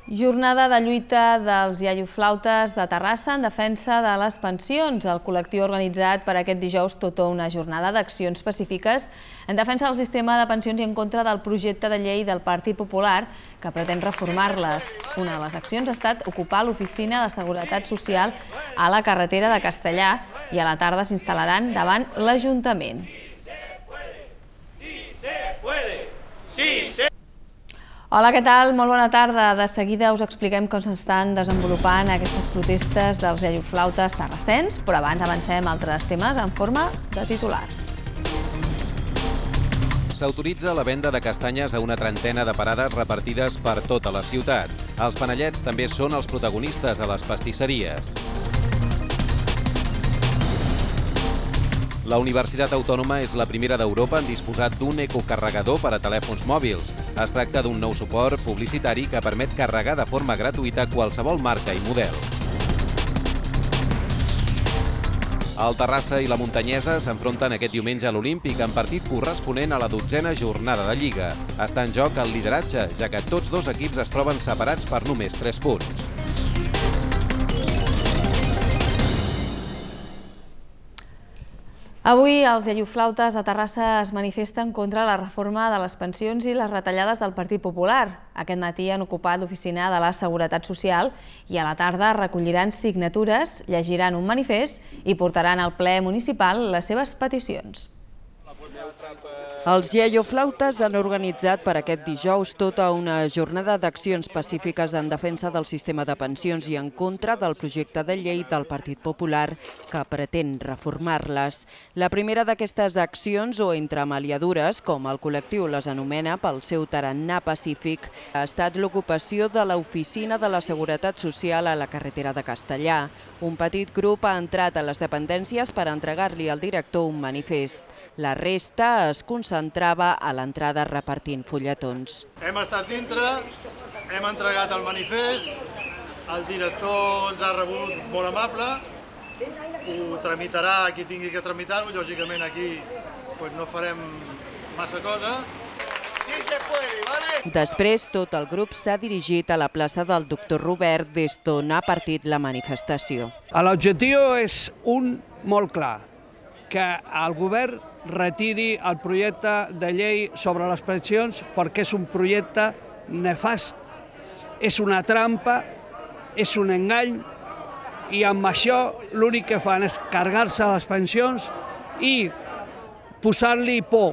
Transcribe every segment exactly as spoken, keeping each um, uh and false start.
Jornada de lluita dels iaioflautes de Terrassa en defensa de les pensions. El col·lectiu ha organitzat per aquest dijous tota una jornada d'accions específiques en defensa del sistema de pensions i en contra del projecte de llei del Partit Popular que pretén reformar-les. Una de les accions ha estat ocupar l'oficina de Seguretat Social a la carretera de Castellà i a la tarda s'instal·laran davant l'Ajuntament. Hola, què tal? Molt bona tarda. De seguida us expliquem com s'estan desenvolupant aquestes protestes dels iaioflautes terrassens, però abans avancem altres temes en forma de titulars. S'autoritza la venda de castanyes a una trentena de parades repartides per tota la ciutat. Els panellets també són els protagonistes a les pastisseries. La Universitat Autònoma és la primera d'Europa en disposar d'un ecocarregador per a telèfons mòbils. Es tracta d'un nou suport publicitari que permet carregar de forma gratuïta qualsevol marca i model. El Terrassa i la Muntanyesa s'enfronten aquest diumenge a l'Olímpic en partit corresponent a la dotzena jornada de Lliga. Està en joc el lideratge, ja que tots dos equips es troben separats per només tres punts. Avui els iaioflautes de Terrassa es manifesten contra la reforma de les pensions i les retallades del Partit Popular. Aquest matí han ocupat l'oficina de la Seguretat Social i a la tarda recolliran signatures, llegiran un manifest i portaran al ple municipal les seves peticions. Els iaioflautes han organitzat per aquest dijous tota una jornada d'accions pacífiques en defensa del sistema de pensions i en contra del projecte de llei del Partit Popular que pretén reformar-les. La primera d'aquestes accions, o entremaliadures, com el col·lectiu les anomena pel seu tarannà pacífic, ha estat l'ocupació de l'oficina de la Seguretat Social a la carretera de Castellà. Un petit grup ha entrat a les dependències per entregar-li al director un manifest. La resta es concentrava a l'entrada repartint fulletons. Hem estat dintre, hem entregat el manifest, el director ens ha rebut molt amable, ho tramitarà qui tingui que tramitar-ho, lògicament aquí no farem massa cosa. Després, tot el grup s'ha dirigit a la plaça del doctor Robert, des d'on ha partit la manifestació. L'objectiu és un molt clar, que el govern retiri el projecte de llei sobre les pensions perquè és un projecte nefast, és una trampa, és un engany i amb això l'únic que fan és carregar-se les pensions i posar-li por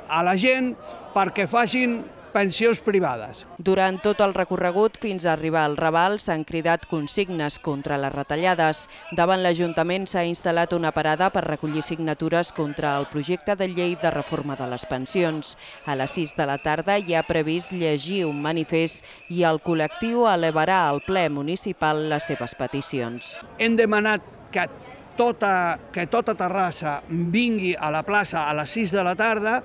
a la gent perquè facin pensions privades. Durant tot el recorregut fins a arribar al Raval s'han cridat consignes contra les retallades. Davant l'Ajuntament s'ha instal·lat una parada per recollir signatures contra el projecte de llei de reforma de les pensions. A les sis de la tarda hi ha previst llegir un manifest i el col·lectiu elevarà al ple municipal les seves peticions. Hem demanat que tota, que tota Terrassa vingui a la plaça a les sis de la tarda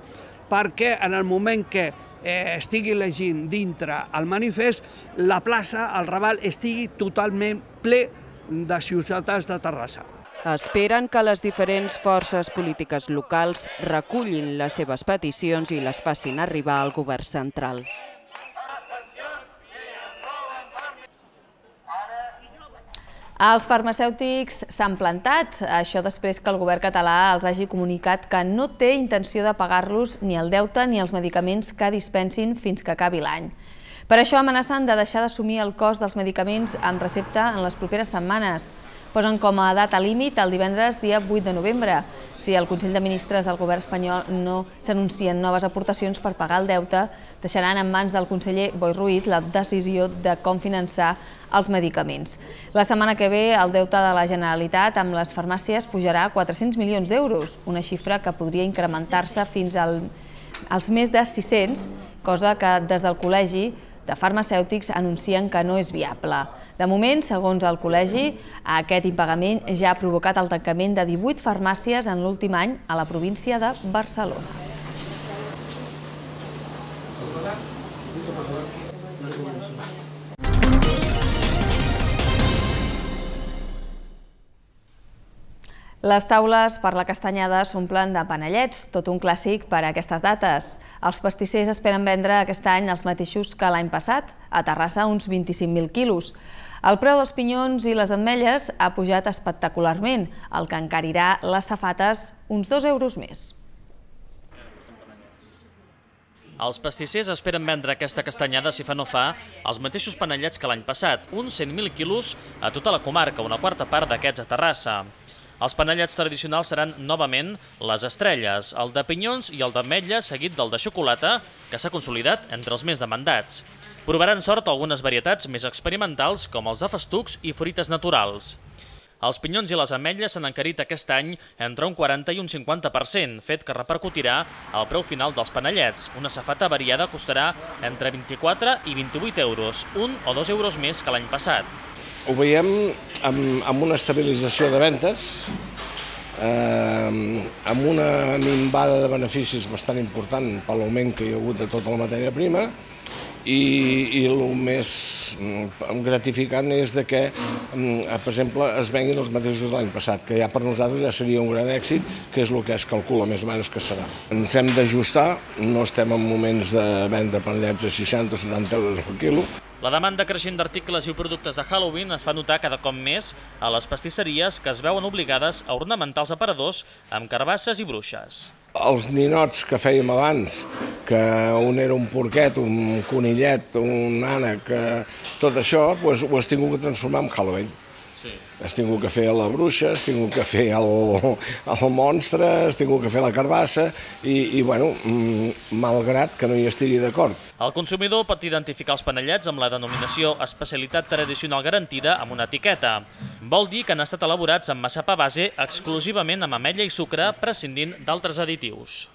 perquè en el moment que eh, estigui llegint dintre el manifest, la plaça, el Raval, estigui totalment ple de ciutadans de Terrassa. Esperen que les diferents forces polítiques locals recullin les seves peticions i les facin arribar al govern central. Els farmacèutics s'han plantat, això després que el govern català els hagi comunicat que no té intenció de pagar-los ni el deute ni els medicaments que dispensin fins que acabi l'any. Per això amenacen de deixar d'assumir el cost dels medicaments amb recepta en les properes setmanes. Posen com a data límit el divendres dia vuit de novembre. Si el Consell de Ministres del govern espanyol no s'anuncien noves aportacions per pagar el deute, deixaran en mans del conseller Boi Ruiz la decisió de com finançar els medicaments. La setmana que ve el deute de la Generalitat amb les farmàcies pujarà a quatre-cents milions d'euros, una xifra que podria incrementar-se fins als més de sis-cents, cosa que des del Col·legi de Farmacèutics anuncien que no és viable. De moment, segons el col·legi, aquest impagament ja ha provocat el tancament de divuit farmàcies en l'últim any a la província de Barcelona. Les taules per la castanyada s'omplen de panellets, tot un clàssic per a aquestes dates. Els pastissers esperen vendre aquest any els mateixos que l'any passat, a Terrassa uns vint-i-cinc mil quilos. El preu dels pinyons i les ametlles ha pujat espectacularment, el que encarirà les safates uns dos euros més. Els pastissers esperen vendre aquesta castanyada, si fa no fa, els mateixos panellets que l'any passat, uns cent mil quilos a tota la comarca, una quarta part d'aquests a Terrassa. Els panellets tradicionals seran, novament, les estrelles, el de pinyons i el d'ametlla, seguit del de xocolata, que s'ha consolidat entre els més demandats. Provaran sort algunes varietats més experimentals, com els de festucs i fruites naturals. Els pinyons i les ametlles s'han encarit aquest any entre un quaranta i un cinquanta per cent, fet que repercutirà al preu final dels panellets. Una safata variada costarà entre vint-i-quatre i vint-i-vuit euros, un o dos euros més que l'any passat. Ho veiem amb, amb una estabilització de ventes, eh, amb una minvada de beneficis bastant important per l'augment que hi ha hagut de tota la matèria prima, i, i el més gratificant és de que, per exemple, es venguin els mateixos l'any passat, que ja per nosaltres ja seria un gran èxit, que és el que es calcula més o menys que serà. Ens hem d'ajustar, no estem en moments de vendre panellets a seixanta o setanta euros per quilo. La demanda creixent d'articles i productes de Halloween es fa notar cada cop més a les pastisseries, que es veuen obligades a ornamentar els aparadors amb carbasses i bruixes. Els ninots que fèiem abans, que un era un porquet, un conillet, un ànec, tot això ho has tingut que transformar en Halloween. Has tingut que fer la bruixa, has tingut que fer el monstre, has tingut que fer la carbassa i, bueno, malgrat que no hi estigui d'acord. El consumidor pot identificar els panellets amb la denominació especialitat tradicional garantida amb una etiqueta. Vol dir que han estat elaborats amb massapà base exclusivament amb ametlla i sucre, prescindint d'altres additius.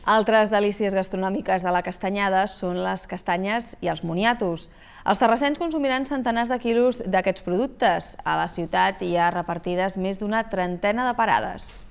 Altres delícies gastronòmiques de la castanyada són les castanyes i els moniatos. Els terrassens consumiran centenars de quilos d'aquests productes. A la ciutat hi ha repartides més d'una trentena de parades.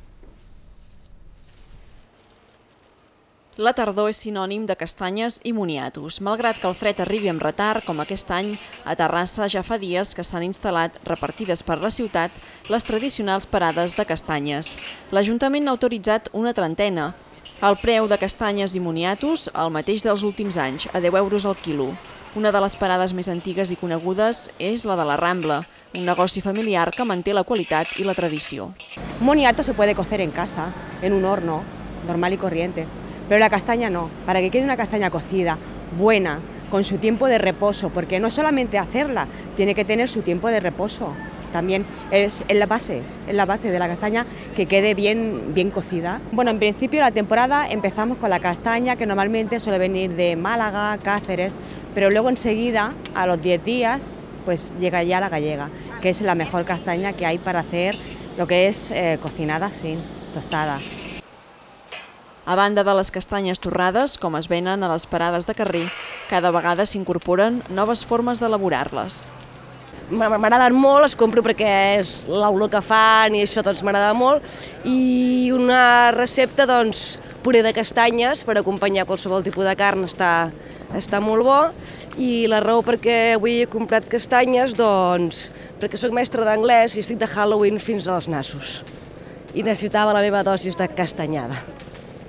La tardor és sinònim de castanyes i moniatos. Malgrat que el fred arribi amb retard, com aquest any, a Terrassa ja fa dies que s'han instal·lat, repartides per la ciutat, les tradicionals parades de castanyes. L'Ajuntament n'ha autoritzat una trentena. El preu de castanyes i moniatos, el mateix dels últims anys, a deu euros al quilo. Una de les parades més antigues i conegudes és la de la Rambla, un negoci familiar que manté la qualitat i la tradició. Un moniato se puede cocer en casa, en un horno, normal y corriente, pero la castaña no. Para que quede una castaña cocida, buena, con su tiempo de reposo, porque no solamente hacerla, tiene que tener su tiempo de reposo. También es la base, es la base de la castaña que quede bien, bien cocida. Bueno, en principio la temporada empezamos con la castaña, que normalmente suele venir de Málaga, Cáceres, pero luego enseguida, a los diez días, pues llega ya la gallega, que es la mejor castaña que hay para hacer lo que es eh, cocinada así, tostada. A banda de les castanyes torrades, com es venen a les parades de carrer, cada vegada s'incorporen noves formes d'elaborar-les. M'agraden molt, les compro perquè és l'olor que fan i això doncs m'agrada molt. I una recepta, doncs, puré de castanyes per acompanyar qualsevol tipus de carn està, està molt bo. I la raó perquè avui he comprat castanyes, doncs, perquè soc mestra d'anglès i estic de Halloween fins als nassos. I necessitava la meva dosis de castanyada.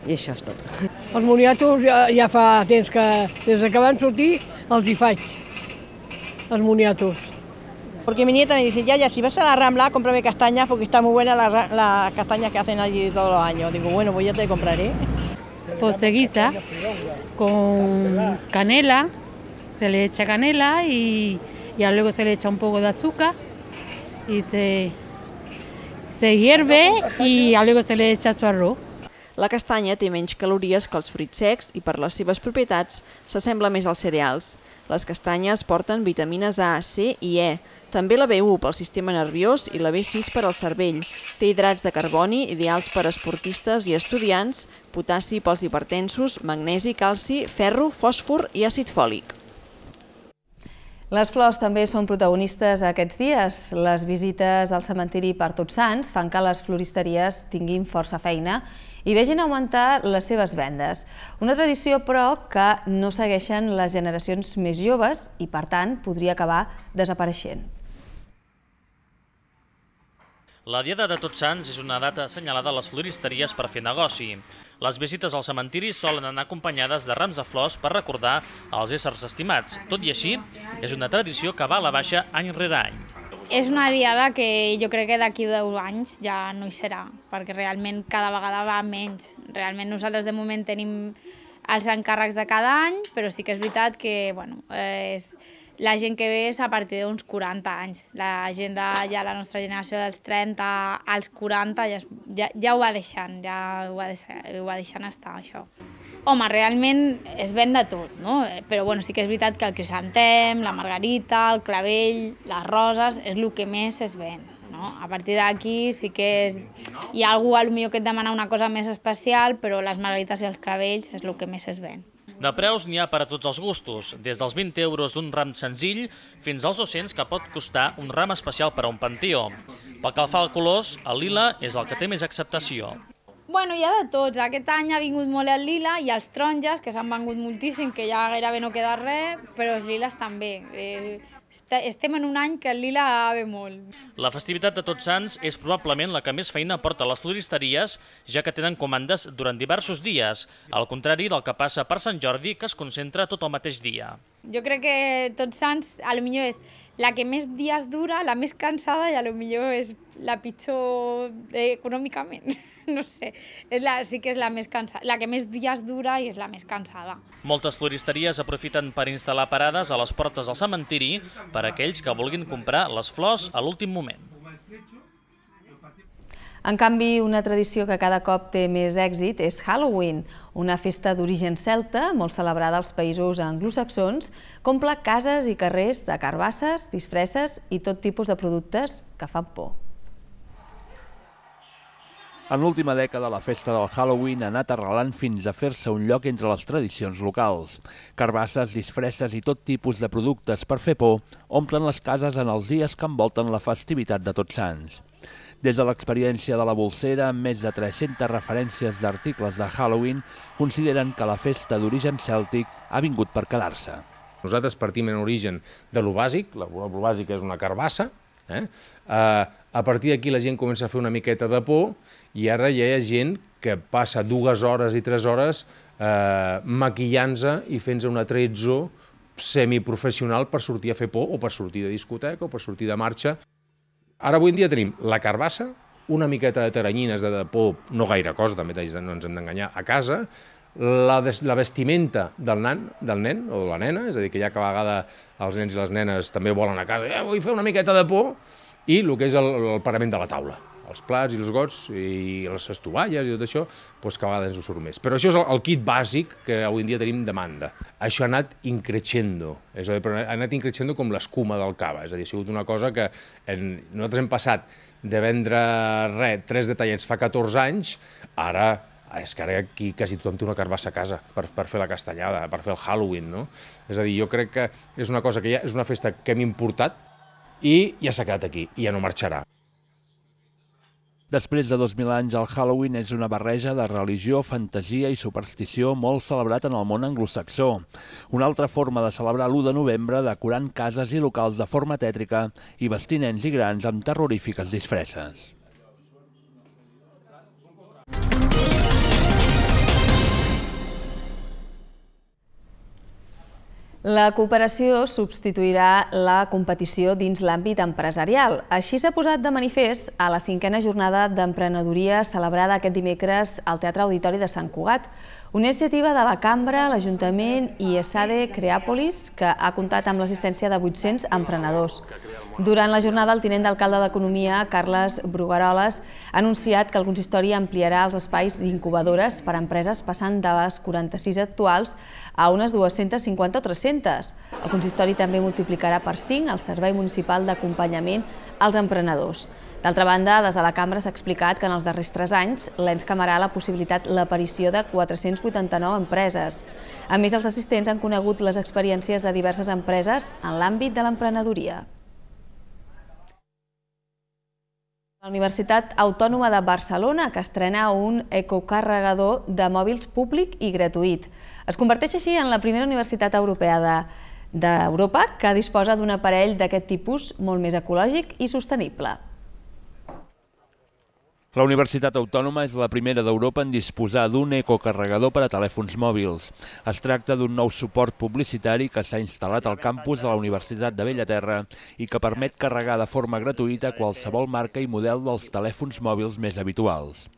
I això és tot. Els moniatos ja, ja fa temps que, des que van sortir, els hi faig, els moniatos. Porque mi nieta me dice, ya, ya, si vas a la Rambla, cómprame castañas porque está muy buena las la castañas que hacen allí todos los años. Digo, bueno, pues ya te compraré. Pues se guisa con canela, se le echa canela y, y luego se le echa un poco de azúcar y se, se hierve y luego se le echa su arroz. La castanya té menys calories que els fruits secs i per les seves propietats s'assembla més als cereals. Les castanyes porten vitamines A, C i E, també la B u pel sistema nerviós i la B sis per al cervell. Té hidrats de carboni ideals per a esportistes i estudiants, potassi pels hipertensos, magnesi, calci, ferro, fòsfor i àcid fòlic. Les flors també són protagonistes aquests dies. Les visites al cementiri per Tots Sants fan que les floristeries tinguin força feina i vegin augmentar les seves vendes. Una tradició, però, que no segueixen les generacions més joves i, per tant, podria acabar desapareixent. La Diada de Tots Sants és una data assenyalada a les floristeries per fer negoci. Les visites al cementiri solen anar acompanyades de rams de flors per recordar els éssers estimats. Tot i així, és una tradició que va a la baixa any rere any. És una diada que jo crec que d'aquí deu anys ja no hi serà, perquè realment cada vegada va menys. Realment nosaltres de moment tenim els encàrrecs de cada any, però sí que és veritat que bueno, és... la gent que ve és a partir d'uns quaranta anys. La gent de ja la nostra generació dels trenta als quaranta ja, ja, ja ho va deixant, ja ho va, deixant, ho va deixant estar, això. Home, realment es ven de tot, no? Però bueno, sí que és veritat que el crisantem, la margarita, el clavell, les roses, és el que més es ven. No? A partir d'aquí sí que és... hi ha algú potser que et demana una cosa més especial, però les margarites i els clavells és el que més es ven. De preus n'hi ha per a tots els gustos, des dels vint euros d'un ram senzill fins als dos-cents que pot costar un ram especial per a un panteó. Pel que fa al colors, el lila és el que té més acceptació. Bueno, hi ha de tots. Aquest any ha vingut molt el lila i els taronges, que s'han vengut moltíssim, que ja gairebé no queda res, però els liles també. Eh, estem en un any que el lila ve molt. La festivitat de Tots Sants és probablement la que més feina porta a les floristeries, ja que tenen comandes durant diversos dies, al contrari del que passa per Sant Jordi, que es concentra tot el mateix dia. Jo crec que Tots Sants, a lo millor és la que més dies dura, la més cansada i a lo millor és la pitjor econòmicament. No sé, és la, sí que és la més cansada, la que més dies dura i és la més cansada. Moltes floristeries aprofiten per instal·lar parades a les portes del cementiri per a aquells que vulguin comprar les flors a l'últim moment. En canvi, una tradició que cada cop té més èxit és Halloween, una festa d'origen celta, molt celebrada als països anglosaxons, que omple cases i carrers de carbasses, disfresses i tot tipus de productes que fan por. En l'última dècada, la festa del Halloween ha anat arrelant fins a fer-se un lloc entre les tradicions locals. Carbasses, disfresses i tot tipus de productes per fer por omplen les cases en els dies que envolten la festivitat de Tots Sants. Des de l'experiència de la Bolsera, amb més de tres-centes referències d'articles de Halloween, consideren que la festa d'origen cèltic ha vingut per quedar-se. Nosaltres partim en origen de lo bàsic, lo bàsic és una carbassa, eh? A partir d'aquí la gent comença a fer una miqueta de por i ara ja hi ha gent que passa dues hores i tres hores eh, maquillant-se i fent-se un atrezzo semiprofessional per sortir a fer por o per sortir de discoteca o per sortir de marxa. Ara avui en dia tenim la carbassa, una miqueta de taranyines de por, no gaire cosa, també no ens hem d'enganyar, a casa, la, la vestimenta del nan, del nen o de la nena, és a dir, que ja que a vegades els nens i les nenes també volen a casa, eh, vull fer una miqueta de por, i el que és el, el parament de la taula, els plats i els gots i les estovalles i tot això, doncs que a vegades ens ho surt més. Però això és el, el kit bàsic que avui en dia tenim demanda. Això ha anat increixendo, és a dir, ha anat increixendo com l'escuma del cava, és a dir, ha sigut una cosa que en, nosaltres hem passat de vendre res, tres detallets fa catorze anys, ara és que ara aquí quasi tothom té una carbassa a casa per, per fer la castanyada, per fer el Halloween, no? És a dir, jo crec que és una cosa que ja és una festa que hem importat i ja s'ha quedat aquí, i ja no marxarà. Després de dos mil anys, el Halloween és una barreja de religió, fantasia i superstició molt celebrat en el món anglosaxó. Una altra forma de celebrar l'u de novembre decorant cases i locals de forma tètrica i vestint nens i grans amb terrorífiques disfresses. La cooperació substituirà la competició dins l'àmbit empresarial. Així s'ha posat de manifest a la cinquena jornada d'emprenedoria celebrada aquest dimecres al Teatre Auditori de Sant Cugat. Una iniciativa de la Cambra, l'Ajuntament i ESADE Creàpolis, que ha comptat amb l'assistència de vuit-cents emprenedors. Durant la jornada, el tinent d'alcalde d'Economia, Carles Brugueroles, ha anunciat que el consistori ampliarà els espais d'incubadores per a empreses passant de les quaranta-sis actuals a unes dues-centes cinquanta o tres-centes. El consistori també multiplicarà per cinc el servei municipal d'acompanyament als emprenedors. D'altra banda, des de la Cambra s'ha explicat que en els darrers tres anys l'ens camarà la possibilitat l'aparició de quatre-cents vuitanta-nou empreses. A més, els assistents han conegut les experiències de diverses empreses en l'àmbit de l'emprenedoria. La Universitat Autònoma de Barcelona, que estrena un ecocarregador de mòbils públic i gratuït. Es converteix així en la primera universitat europea d'Europa que disposa d'un aparell d'aquest tipus molt més ecològic i sostenible. La Universitat Autònoma és la primera d'Europa en disposar d'un ecocarregador per a telèfons mòbils. Es tracta d'un nou suport publicitari que s'ha instal·lat al campus de la Universitat de Bellaterra i que permet carregar de forma gratuïta qualsevol marca i model dels telèfons mòbils més habituals.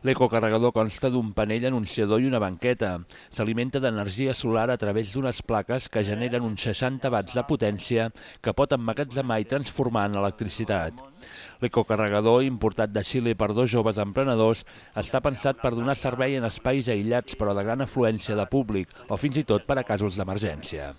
L'ecocarregador consta d'un panell anunciador i una banqueta. S'alimenta d'energia solar a través d'unes plaques que generen uns seixanta watts de potència que pot emmagatzemar i transformar en electricitat. L'ecocarregador, importat de Xile per dos joves emprenedors, està pensat per donar servei en espais aïllats però de gran afluència de públic o fins i tot per a casos d'emergència.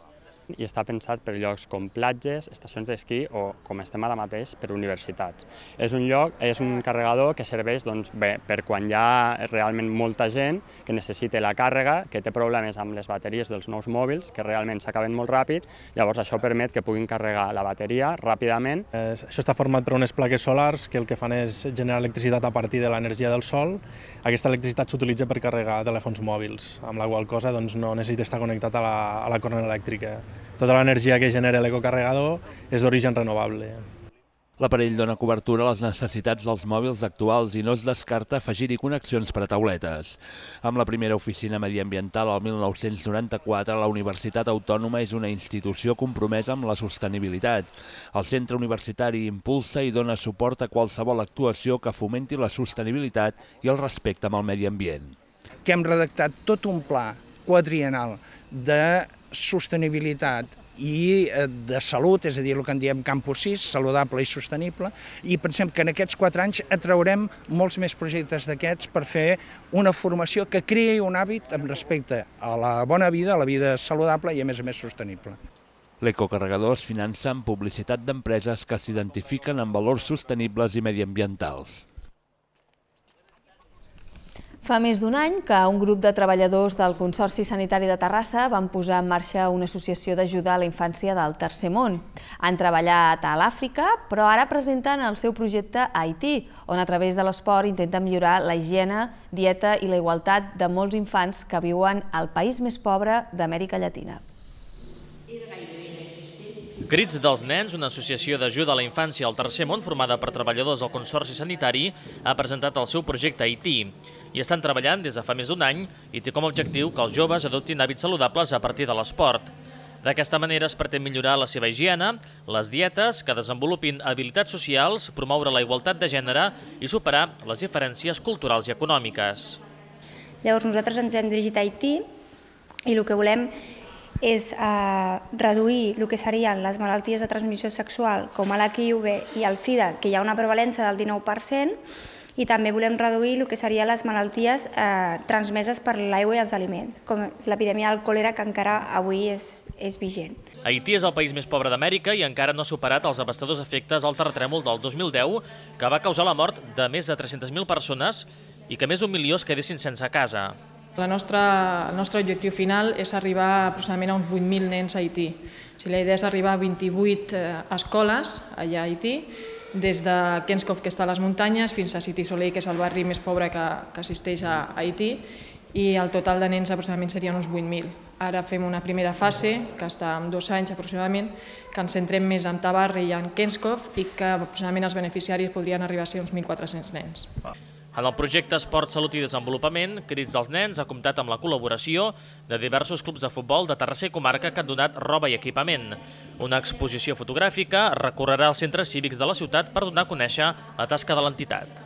I està pensat per llocs com platges, estacions d'esquí o, com estem ara mateix, per universitats. És un lloc, és un carregador que serveix doncs, bé, per quan hi ha realment molta gent que necessita la càrrega, que té problemes amb les bateries dels nous mòbils, que realment s'acaben molt ràpid, llavors això permet que puguin carregar la bateria ràpidament. Eh, això està format per unes plaques solars que el que fan és generar electricitat a partir de l'energia del sol. Aquesta electricitat s'utilitza per carregar telèfons mòbils, amb la qual cosa doncs, no necessita estar connectat a la, a la corrent elèctrica. Tota l'energia que genera l'ecocarregador és d'origen renovable. L'aparell dona cobertura a les necessitats dels mòbils actuals i no es descarta afegir-hi connexions per a tauletes. Amb la primera oficina mediambiental al mil nou-cents noranta-quatre, la Universitat Autònoma és una institució compromesa amb la sostenibilitat. El centre universitari impulsa i dona suport a qualsevol actuació que fomenti la sostenibilitat i el respecte amb el medi ambient. Que hem redactat tot un pla quadriennal de sostenibilitat i de salut, és a dir, el que en diem Campus sis, saludable i sostenible, i pensem que en aquests quatre anys atraurem molts més projectes d'aquests per fer una formació que creï un hàbit amb respecte a la bona vida, a la vida saludable i a més a més sostenible. L'ecocarregador es finança amb publicitat d'empreses que s'identifiquen amb valors sostenibles i mediambientals. Fa més d'un any que un grup de treballadors del Consorci Sanitari de Terrassa van posar en marxa una associació d'ajuda a la infància del Tercer Món. Han treballat a l'Àfrica, però ara presenten el seu projecte a Haití, on a través de l'esport intenten millorar la higiene, dieta i la igualtat de molts infants que viuen al país més pobre d'Amèrica Llatina. Crits dels Nens, una associació d'ajuda a la infància al Tercer Món formada per treballadors del Consorci Sanitari, ha presentat el seu projecte a Haití. Hi estan treballant des de fa més d'un any i té com a objectiu que els joves adoptin hàbits saludables a partir de l'esport. D'aquesta manera es pretén millorar la seva higiene, les dietes, que desenvolupin habilitats socials, promoure la igualtat de gènere i superar les diferències culturals i econòmiques. Llavors nosaltres ens hem dirigit a Haití i el que volem és eh, reduir el que serien les malalties de transmissió sexual com l'H I V i el SIDA, que hi ha una prevalença del dinou per cent, i també volem reduir el que serien les malalties eh, transmeses per l'aigua i els aliments, com l'epidèmia del còlera, que encara avui és, és vigent. Haití és el país més pobre d'Amèrica i encara no ha superat els devastadors efectes del terratrèmol del dos mil deu, que va causar la mort de més de tres-centes mil persones i que més d'un milió es quedessin sense casa. La nostra, el nostre objectiu final és arribar aproximadament a uns vuit mil nens a Haití. O sigui, la idea és arribar a vint-i-vuit eh, escoles allà a Haití, des de Kenskov, que està a les muntanyes, fins a City Soleil, que és el barri més pobre que, que assisteix a Haití, i el total de nens aproximadament serien uns vuit mil. Ara fem una primera fase, que està en dos anys aproximadament, que ens centrem més en Tabarri i en Kenskov i que aproximadament els beneficiaris podrien arribar a ser uns mil quatre-cents nens. En el projecte Esport, Salut i Desenvolupament, Crits dels Nens ha comptat amb la col·laboració de diversos clubs de futbol de Terrassa i comarca que han donat roba i equipament. Una exposició fotogràfica recorrerà els centres cívics de la ciutat per donar a conèixer la tasca de l'entitat.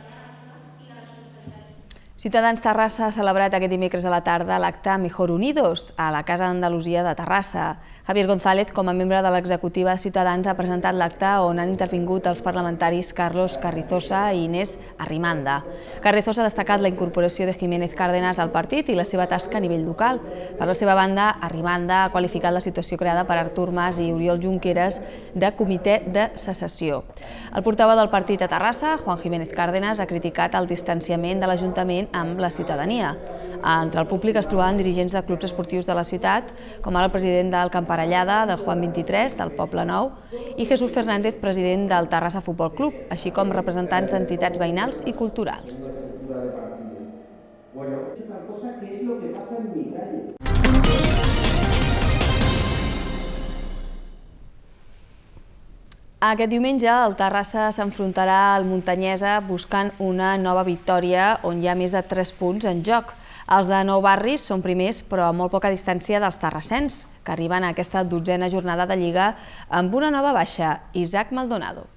Ciutadans Terrassa ha celebrat aquest dimecres a la tarda l'acte Mejor Unidos a la Casa d'Andalusia de Terrassa. Javier González, com a membre de l'executiva de Ciutadans, ha presentat l'acte on han intervingut els parlamentaris Carlos Carrizosa i Inés Arrimanda. Carrizosa ha destacat la incorporació de Jiménez Cárdenas al partit i la seva tasca a nivell local. Per la seva banda, Arrimanda ha qualificat la situació creada per Artur Mas i Oriol Junqueras de comitè de secessió. El portaveu del partit a Terrassa, Juan Jiménez Cárdenas, ha criticat el distanciament de l'Ajuntament amb la ciutadania. Entre el públic es trobaven dirigents de clubs esportius de la ciutat, com ara el president del Camparellada, del Juan vint-i-tres, del Poble Nou, i Jesús Fernández, president del Terrassa Futbol Club, així com representants d'entitats veïnals i culturals. Aquest diumenge el Terrassa s'enfrontarà al Muntanyesa buscant una nova victòria on hi ha més de tres punts en joc. Els de Nou Barris són primers però a molt poca distància dels terrassens, que arriben a aquesta dotzena jornada de Lliga amb una nova baixa, Isaac Maldonado.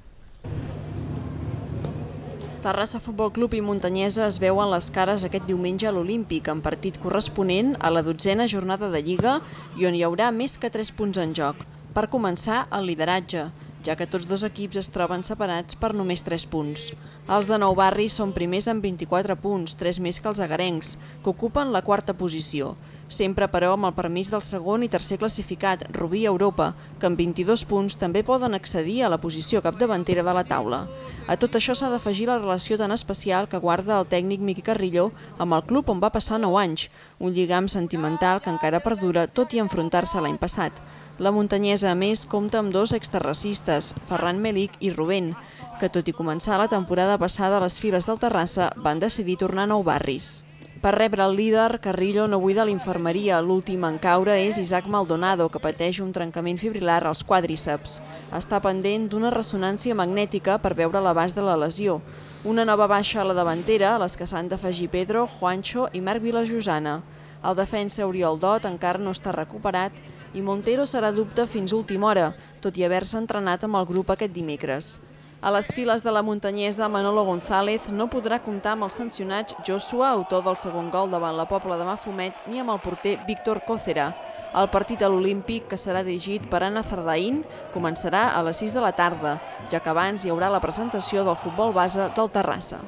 Terrassa Futbol Club i Muntanyesa es veuen les cares aquest diumenge a l'Olímpic, en partit corresponent a la dotzena jornada de Lliga i on hi haurà més que tres punts en joc. Per començar, el lideratge, ja que tots dos equips es troben separats per només tres punts. Els de Nou Barris són primers amb vint-i-quatre punts, tres més que els agarencs, que ocupen la quarta posició. Sempre, però, amb el permís del segon i tercer classificat, Rubí Europa, que amb vint-i-dos punts també poden accedir a la posició capdavantera de la taula. A tot això s'ha d'afegir la relació tan especial que guarda el tècnic Miqui Carrillo amb el club on va passar nou anys, un lligam sentimental que encara perdura tot i enfrontar-se l'any passat. La Muntanyesa, a més, compta amb dos exterracistes, Ferran Melic i Rubén, que tot i començar la temporada passada a les files del Terrassa, van decidir tornar a Nou Barris. Per rebre el líder, Carrillo no buida l'infermeria. L'últim en caure és Isaac Maldonado, que pateix un trencament fibrilar als quàdriceps. Està pendent d'una ressonància magnètica per veure l'abast de la lesió. Una nova baixa a la davantera, a les que s'han d'afegir Pedro, Juancho i Marc Vilajosana. El defensa Oriol Dot encara no està recuperat i Montero serà dubte fins a última hora, tot i haver-se entrenat amb el grup aquest dimecres. A les files de la Muntanyesa, Manolo González no podrà comptar amb els sancionats Joshua, autor del segon gol davant la Pobla de Mafumet, ni amb el porter Víctor Còcera. El partit a l'Olímpic, que serà dirigit per Anna Zardaín, començarà a les sis de la tarda, ja que abans hi haurà la presentació del futbol base del Terrassa.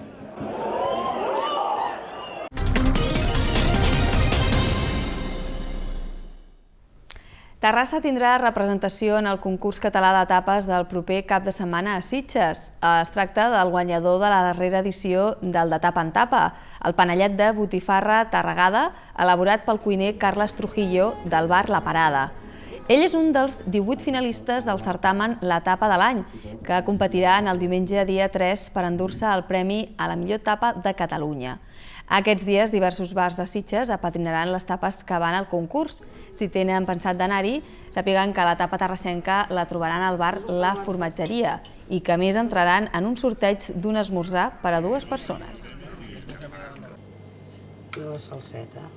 Terrassa tindrà representació en el concurs català d'etapes del proper cap de setmana a Sitges. Es tracta del guanyador de la darrera edició del de tapa en tapa, el panellet de botifarra tarragada, elaborat pel cuiner Carles Trujillo del bar La Parada. Ell és un dels divuit finalistes del certamen La Tapa de l'any, que competirà en el diumenge dia tres per endur-se el premi a la millor tapa de Catalunya. Aquests dies, diversos bars de Sitges apadrinaran les tapes que van al concurs. Si tenen pensat d'anar-hi, sàpiguen que la tapa terrassenca la trobaran al bar La Formatgeria i que a més entraran en un sorteig d'un esmorzar per a dues persones. I la salseta.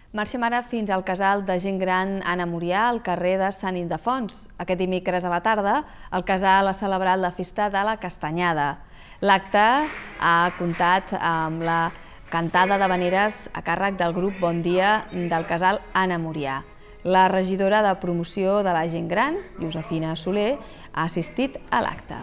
Marxem ara fins al casal de gent gran Anna Murià, al carrer de Sant Ildefons. Aquest dimecres a la tarda, el casal ha celebrat la festa de la Castanyada. L'acte ha comptat amb la cantada d'havaneres a càrrec del grup Bon Dia del casal Anna Murià. La regidora de promoció de la gent gran, Josefina Soler, ha assistit a l'acte.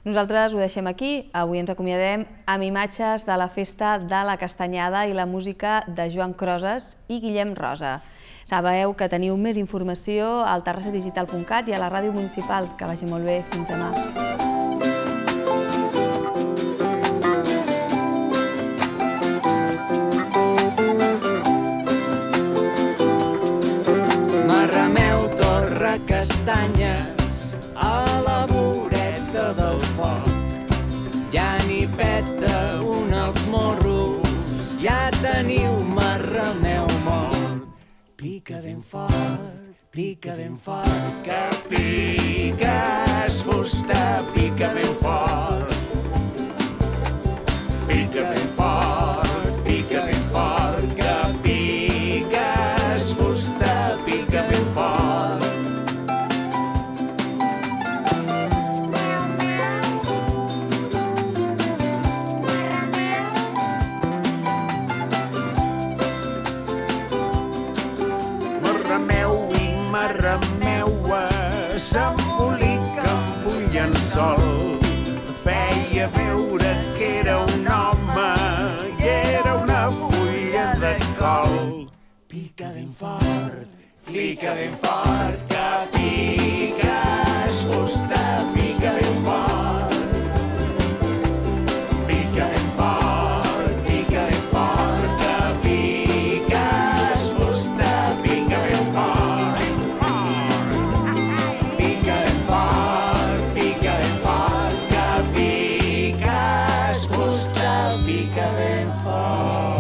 Nosaltres ho deixem aquí. Avui ens acomiadem amb imatges de la festa de la Castanyada i la música de Joan Croses i Guillem Rosa. Sabeu que teniu més informació al terrassa digital punt cat i a la ràdio municipal. Que vagi molt bé. Fins demà. Marrameu, torra, castanyes, a la voreta del foc. Ja n'hi peta un als morros, ja teniu marrameu mort. Pica ben fort, pica ben fort, que piques fusta, pica ben fort. Pica ben fort, pica ben fort, que piques fusta, pica ben fort. Marrameu i marrameua s'embolica amb un llençol. Feia veure que era un home i era una fulla de col. Pica ben fort, pica ben fort, que piques fusta, pica ben fort. Pica ben fort, pica ben fort, que piques fusta, pica ben fort. Pica ben fort, pica ben fort, que piques fusta, pica ben fort.